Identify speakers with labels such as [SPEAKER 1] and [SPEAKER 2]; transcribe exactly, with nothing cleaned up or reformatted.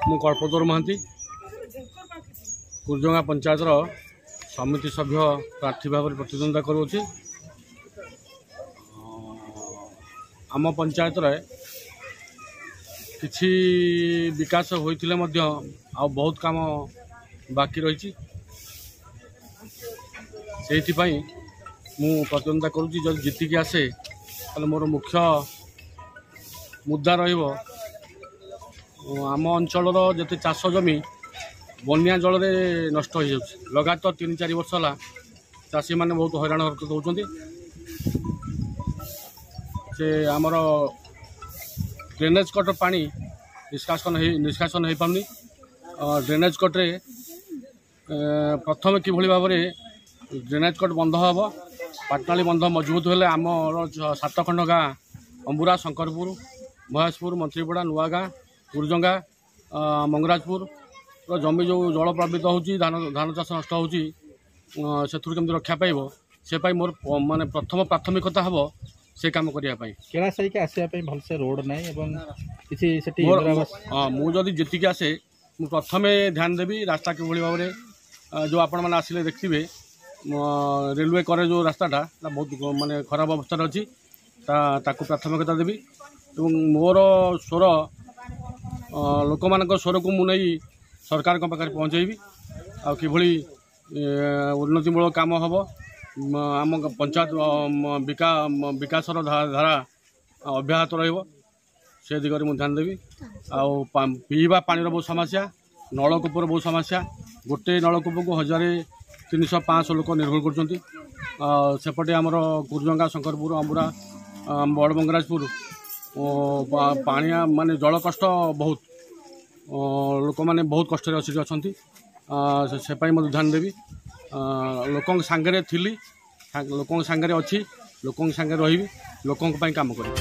[SPEAKER 1] ମୁଁ କଳ୍ପତରୁ ମହାନ୍ତି, କୁରଜଙ୍ଗା ପଞ୍ଚାୟତର ସମିତି ସଭ୍ୟ ପ୍ରାର୍ଥୀ ଭାବରେ ପ୍ରତିଦ୍ୱନ୍ଦ୍ୱିତା କରୁଅଛି। ଆମ ପଞ୍ଚାୟତରେ କିଛି ବିକାଶ ହୋଇଥିଲେ ମଧ୍ୟ ଆଉ ବହୁତ କାମ ବାକି ରହିଛି। ସେଇଥିପାଇଁ ମୁଁ ପ୍ରତିଦ୍ୱନ୍ଦ୍ୱିତା କରୁଛି। ଯଦି ଜିତିକି ଆସେ, ତାହେଲେ ମୋର ମୁଖ୍ୟ ମୁଦ୍ଦା ରହିବ, ଆମ ଅଞ୍ଚଳର ଯେତେ ଚାଷ ଜମି ବନ୍ୟା ଜଳରେ ନଷ୍ଟ ହୋଇଯାଉଛି। ଲଗାତାର ତିନି ଚାରି ବର୍ଷ ହେଲା ଚାଷୀମାନେ ବହୁତ ହଇରାଣ ହରକତ ହେଉଛନ୍ତି। ସେ ଆମର ଡ୍ରେନେଜ୍ କଟ୍ ପାଣି ନିଷ୍କାସନ ହେଇ ନିଷ୍କାସନ ହୋଇପାରୁନି। ଡ୍ରେନେଜ୍ କଟ୍ରେ ପ୍ରଥମେ କିଭଳି ଭାବରେ ଡ୍ରେନେଜ୍ କଟ୍ ବନ୍ଧ ହେବ, ପାଟନାଳି ବନ୍ଧ ମଜବୁତ ହେଲେ ଆମର ସାତ ଖଣ୍ଡ ଗାଁ ଅମ୍ବୁରା, ଶଙ୍କରପୁର, ମହେଶପୁର, ମନ୍ତ୍ରୀପଡ଼ା, ନୂଆଗାଁ, କୁରଜଙ୍ଗା, ମଙ୍ଗରାଜପୁରର ଜମି ଯେଉଁ ଜଳ ପ୍ଲାବିତ ହେଉଛି, ଧାନ ଧାନ ଚାଷ ନଷ୍ଟ ହେଉଛି, ସେଥିରୁ କେମିତି ରକ୍ଷା ପାଇବ, ସେ ପାଇଁ ମୋର ମାନେ ପ୍ରଥମ ପ୍ରାଥମିକତା ହେବ ସେ କାମ କରିବା ପାଇଁ।
[SPEAKER 2] କେଳା ସାହିକି ଆସିବା ପାଇଁ ଭଲସେ ରୋଡ଼ ନାହିଁ ଏବଂ କିଛି ସେଠି
[SPEAKER 1] ହଁ, ମୁଁ ଯଦି ଯେତିକି ଆସେ, ମୁଁ ପ୍ରଥମେ ଧ୍ୟାନ ଦେବି ରାସ୍ତା କିଭଳି ଭାବରେ। ଯେଉଁ ଆପଣମାନେ ଆସିଲେ ଦେଖିଥିବେ, ରେଲୱେ କରେ ଯେଉଁ ରାସ୍ତାଟା ବହୁତ ମାନେ ଖରାପ ଅବସ୍ଥାରେ ଅଛି, ତା ତାକୁ ପ୍ରାଥମିକତା ଦେବି ଏବଂ ମୋର ସ୍ୱର, ଲୋକମାନଙ୍କ ସ୍ୱରକୁ ମୁଁ ନେଇ ସରକାରଙ୍କ ପାଖରେ ପହଞ୍ଚାଇବି। ଆଉ କିଭଳି ଉନ୍ନତିମୂଳକ କାମ ହେବ, ଆମ ପଞ୍ଚାୟତ ବିକାଶର ଧାରା ଅବ୍ୟାହତ ରହିବ, ସେ ଦିଗରେ ମୁଁ ଧ୍ୟାନ ଦେବି। ଆଉ ପିଇବା ପାଣିର ବହୁତ ସମସ୍ୟା, ନଳକୂପର ବହୁତ ସମସ୍ୟା। ଗୋଟେ ନଳକୂପକୁ ହଜାରେ ତିନିଶହ ପାଞ୍ଚଶହ ଲୋକ ନିର୍ଭର କରୁଛନ୍ତି। ସେପଟେ ଆମର କୁରଜଙ୍ଗା, ଶଙ୍କରପୁର, ଅମ୍ବୁରା, ବଡ଼ ମଙ୍ଗରାଜପୁର ପାଣିଆ ମାନେ ଜଳ କଷ୍ଟ ବହୁତ, ଲୋକମାନେ ବହୁତ କଷ୍ଟରେ ଆସିକି ଅଛନ୍ତି। ସେ ପାଇଁ ମଧ୍ୟ ଧ୍ୟାନ ଦେବି। ଲୋକଙ୍କ ସାଙ୍ଗରେ ଥିଲି, ଲୋକଙ୍କ ସାଙ୍ଗରେ ଅଛି, ଲୋକଙ୍କ ସାଙ୍ଗରେ ରହିବି, ଲୋକଙ୍କ ପାଇଁ କାମ କରିବି।